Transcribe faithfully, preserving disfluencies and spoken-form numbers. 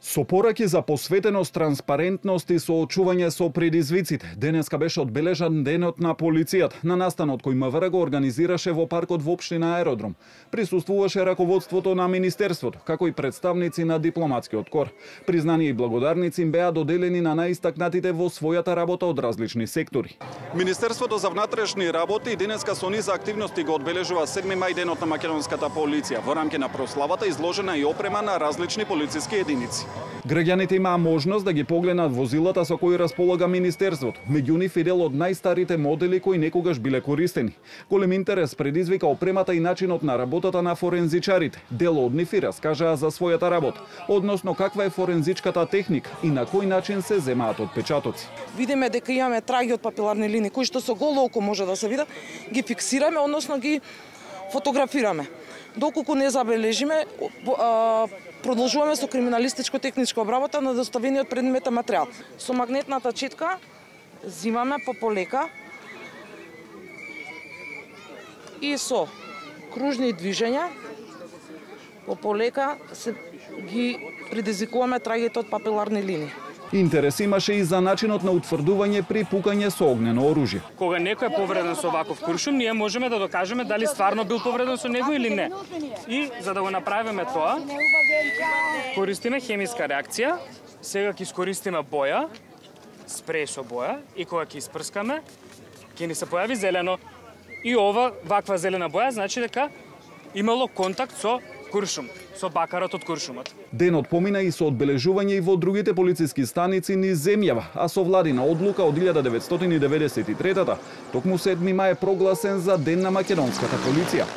Со пораки за посветеност, транспарентност и соочување со предизвиците, денеска беше одбележан денот на полицијата. На настанот кој МВР го организираше во паркот во општина Аеродром, присуствуваше раководството на Министерството, како и представници на дипломатскиот кор. Признание и благодарници им беа доделени на најистакнатите во својата работа од различни сектори. Министерството за внатрешни работи денеска со низ активности го одбележува седми мај денот на македонската полиција. Во рамки на прославата изложена и опрема на различни полициски единици. Граѓаните имаа можност да ги погледнат возилата со кои располага Министерството, меѓу нив и дел од најстарите модели кои некогаш биле користени. Голем интерес предизвика опремата и начинот на работата на форензичарите. Дел од нив и раскажаа за својата работа, односно каква е форензичката техника и на кој начин се земаат отпечатоци. Видиме дека имаме траги од папиларни линии кои што со голо око може да се видат, ги фиксираме, односно ги фотографираме. Доколку не забележиме, продолжуваме со криминалистичко-техничка обработка на доставениот предметен материјал. Со магнетната четка зимаме по полека и со кружни движења по полека се ги предизвикуваме трагите од папиларни линии. Интерес имаше и за начинот на утврдување при пукање со огнено оружје. Кога некој е повреден со ваков куршум, ние можеме да докажеме дали стварно бил повреден со него или не. И за да го направиме тоа, користиме хемиска реакција, сега ќе искористиме боја, спреј со боја, и кога ќе испрскаме, ќе ни се појави зелено. И ова, ваква зелена боја, значи дека имало контакт со куршум, со бакарот од куршумот. Денот помина и со одбележување и во другите полициски станици низ земјава, а со владина одлука од илјада деветстотини и деветдесет и трета токму седми мај е прогласен за Ден на македонската полиција.